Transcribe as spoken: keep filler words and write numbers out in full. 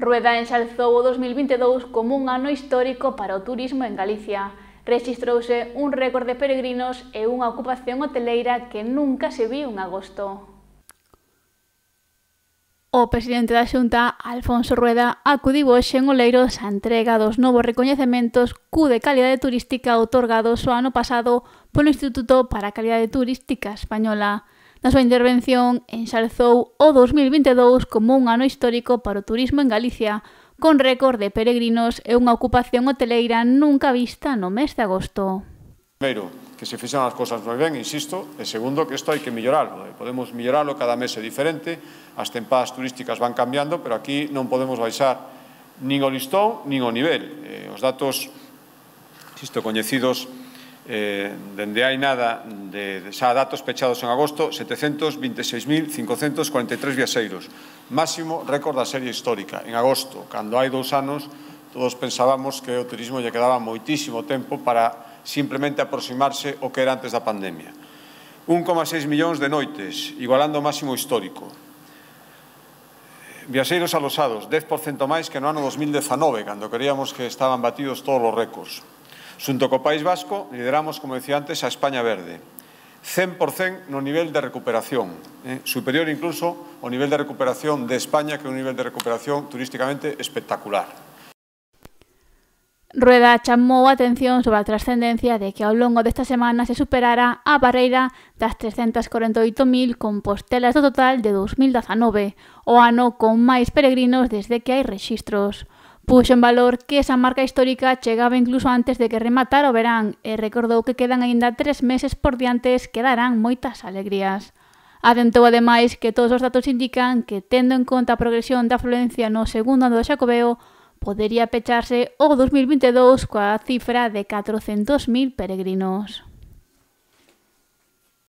Rueda enxalzou o dos mil vinte e dous como un ano histórico para o turismo en Galicia. Rexistrouse un récord de peregrinos e unha ocupación hoteleira que nunca se viu en agosto. O presidente da Xunta, Alfonso Rueda, acudiu hoxe en Oleiros á entrega dos novos recoñecementos Q de calidade turística outorgados o ano pasado polo Instituto para a Calidade Turística Española. Na súa intervención, enxalzou o dos mil vinte e dous como un ano histórico para o turismo en Galicia, con récord de peregrinos e unha ocupación hoteleira nunca vista no mes de agosto. Primeiro, que se fixan as cousas moi ben, insisto, e segundo, que isto hai que melloralo. Podemos melloralo, cada mes é diferente, as tempadas turísticas van cambiando, pero aquí non podemos baixar nin o listón, nin o nivel. Eh, os datos, insisto, coñecidos eh, dende hai nada, de, de xa datos pechados en agosto, setecentos vinte e seis mil cincocentos cuarenta e tres viaxeiros, máximo récord da serie histórica. En agosto, cando hai dous anos, todos pensábamos que o turismo lle quedaba moitísimo tempo para simplemente aproximarse ao que era antes da pandemia. un coma seis millóns de noites, igualando o máximo histórico. Viaxeiros alosados, dez por cento máis que no ano dos mil dezanove, cando queríamos que estaban batidos todos os récords. Xunto co País Vasco, lideramos, como decía antes, a España Verde. cen por cento no nivel de recuperación, eh, superior incluso ao nivel de recuperación de España, que é un nivel de recuperación turísticamente espectacular. Rueda chamou a atención sobre a trascendencia de que ao longo desta semana se superara a barreira das trescentas corenta e oito mil compostelas do total de dos mil dezanove, o ano con máis peregrinos desde que hai rexistros. Puxo en valor que esa marca histórica chegaba incluso antes de que rematara o verán e recordou que quedan aínda tres meses por diantes que darán moitas alegrías. Adentou ademais que todos os datos indican que, tendo en conta a progresión da afluencia no segundo ano do Xacobeo, podería pecharse o dos mil vinte e dous coa cifra de catrocentos mil peregrinos.